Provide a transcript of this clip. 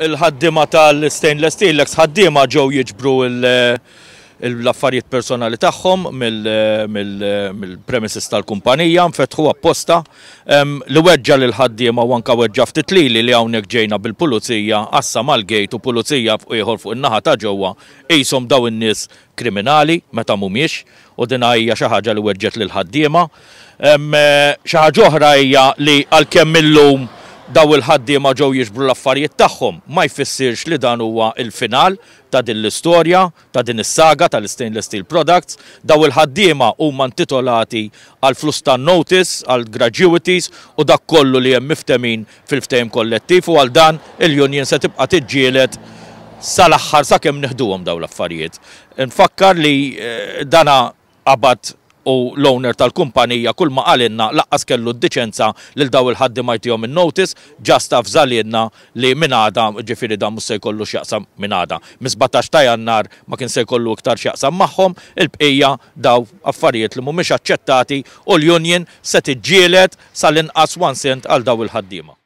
il-ħaddiema tal-Stainless Steel, l-eks ħaddiema ġew jiġbru l-affarijiet personali tagħhom mill-premises tal-kumpanija, nfetħu apposta. Li weġġa' lill-ħaddiema u anke weġġa' ftit lili li hawnhekk ġejna bil-pulizija għassa mal-gate u pulizija ieħor fuq in-naħa ta' ġewwa qishom dawn in-nies kriminali meta mhumiex u din hija xi ħaġa li weġġgħet lill-ħaddiema. Xi ħaġa oħra hija li għalkemm illum dawn il-ħaddiema ġew jiġbru l-affarijiet tagħhom ma jfissirx li dan huwa l-final ta' din l-istorja, ta' din is-saga tal-Stainless Steel Products. Dawn il-ħaddiema huma intitolati għal flus tan-notice, għal gratuities u dak kollu li hemm miftemin fil-ftehim kollettiv u għal dan il-union se tibqa' tiġġieled sal-aħħar sakemm nieħduhom dawn l-affarijiet. Nfakkar li dana qabad u l-owner tal-kumpanija kull ma qalilna laqqas kellu d-diċenza lil dawn il-ħaddiema jtihom in-notice, just avżalilna li minn għada, ġifieri dan mhux se jkollu x'jaqsam minn għada, mis-17 ta' Jannar ma kien se jkollu iktar x'jaqsam magħhom, il-bqija daw affarijiet li mhumiex aċċettati u l-union se tiġġieled sal-inqas one cent għal dawn il-ħaddiema.